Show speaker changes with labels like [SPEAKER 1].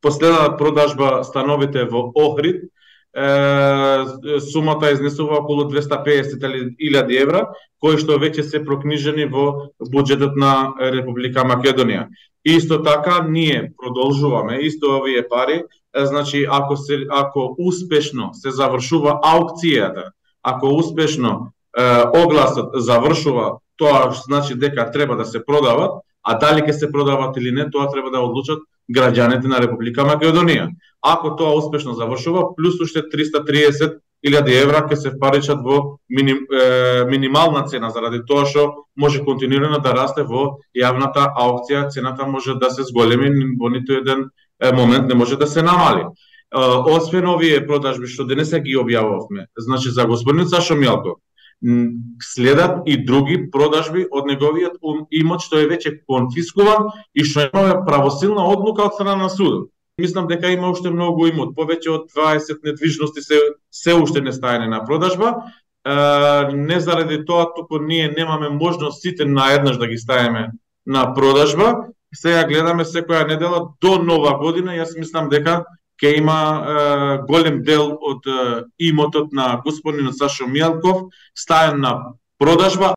[SPEAKER 1] последната продажба становите во Охрид, сумата изнесува околу 250.000 евра, кои што веќе се прокнижени во буџетот на Република Македонија. Исто така, ние продолжуваме исто овие пари, значи ако успешно се завршува аукцијата, ако успешно огласот завршува, тоа значи дека треба да се продават, а дали ќе се продават или не, тоа треба да одлучат граѓаните на Република Македонија. Ако тоа успешно завршува, плюс уште 330.000 евра ќе се впаричат во минимална цена, заради тоа што може континуирано да расте во јавната аукција, цената може да се зголеми, во ниту еден момент не може да се намали. Освен овие продажби што денеска ги објавувавме, значи за господин Сашо Мијалков, следат и други продажби од неговиот имот што е веќе конфискуван и што има правосилна одлука од страна на судот. Мислам дека има уште многу имот, повеќе од 20 недвижности се уште не стајани на продажба. Не заради тоа, туку ние немаме можност сите наеднаш да ги ставиме на продажба. Сега гледаме секоја недела до Нова година, јас мислам дека ќе има голем дел од имотот на господинот Сашо Мијалков стаен на продажба,